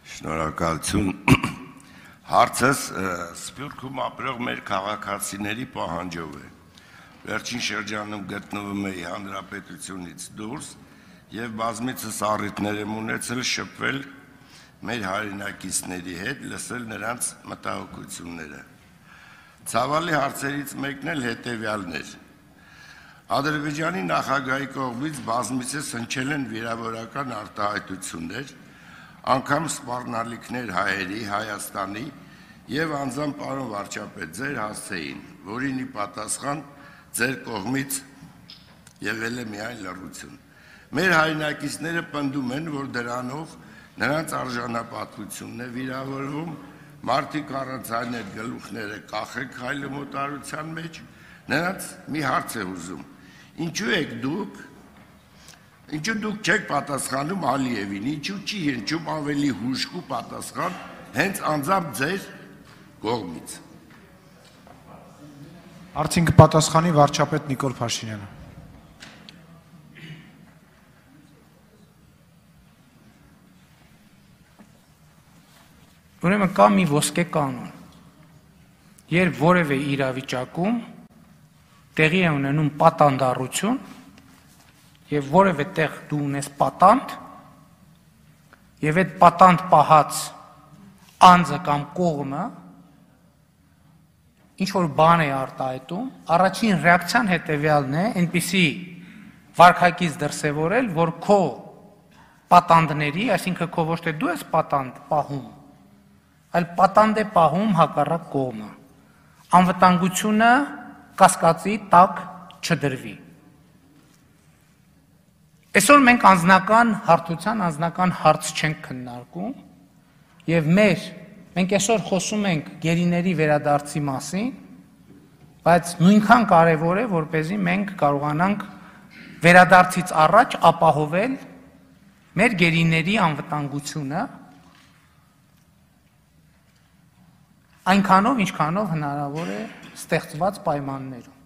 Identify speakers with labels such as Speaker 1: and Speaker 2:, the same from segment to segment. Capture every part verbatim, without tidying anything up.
Speaker 1: Շնորհակալություն։ Հարցս Սփյուռքում ապրող մեր քաղաքացիների պահանջով է։ Վերջին շրջանում գտնվում էի հանրապետությունից դուրս եւ բազմիցս առիթներ եմ ունեցել շփվել մեր հայրենակիցների հետ, լսել նրանց մտահոգությունները։ Ցավալի հարցերից մեկն էլ հետեւյալն էր։ Ադրբեջանի նախագահի կողմից բազմիցս հնչել են վիրավորական արտահայտություններ, անգամ սպառնալիքներ հայերի, Հայաստանի եւ անձամբ պարոն վարչապետ ձեր հասցեին, որին ի պատասխան ձեր կողմից եղել է միայն լռություն։ Մեր հայրենակիցները պնդում են, որ դրանով նրանց արժանապատվությունն է վիրավորվում, մարդիկ առանց այն այդ գլուխները կախել քայլում օտարության մեջ, նրանց մի հարց է ուզում. Ինչու եք դուք Ինչու դուք չեք պատասխանում Ալիևին, ինչու չի հնչում ավելի հուժկու պատասխան հենց անձամբ ձեր կողմից։
Speaker 2: Արդեն կպատասխանի վարչապետ Նիկոլ Փաշինյանը։
Speaker 3: Ուրեմն կա մի ոսկե կանոն։ Երբ որևէ իրավիճակում տեղի է ունենում պատանդառություն, եւ որևէ տեղ դու ունես պատանդ, եւ այդ պատանդ պահած անձը կամ կողմը ինչ որ բան է արտահայտում, առաջին ռեակցիան հետեւյալն է, այնպիսի վարքագիծ դրսևորել, որ քո պատանդների, այսինքն քո ոչ թե դու ես պատանդ պահում, այլ պատանդ է պահում հակառակ կողմը։ Անվտանգությունը կասկածի տակ չդրվի։ Այսօր մենք անձնական հարթության, անձնական հարց չենք քննարկում եւ մեր մենք այսօր խոսում ենք գերիների վերադարձի մասին, բայց նույնքան կարեւոր է, որպեսզի մենք կարողանանք վերադարձից առաջ ապահովել մեր գերիների անվտանգությունը այնքանով, ինչքանով հնարավոր է ստեղծված պայմաններում։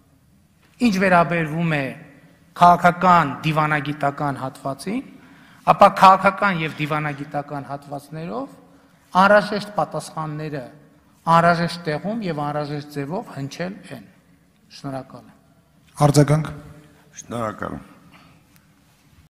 Speaker 3: Ինչ վերաբերվում է քաղաքական դիվանագիտական հատվածին, ապա քաղաքական եւ դիվանագիտական հատվածներով անհրաժեշտ պատասխանները անհրաժեշտ տեղում եւ անհրաժեշտ ձևով հնչել են։ Շնորհակալ եմ։
Speaker 2: Արձագանք։
Speaker 1: Շնորհակալ եմ։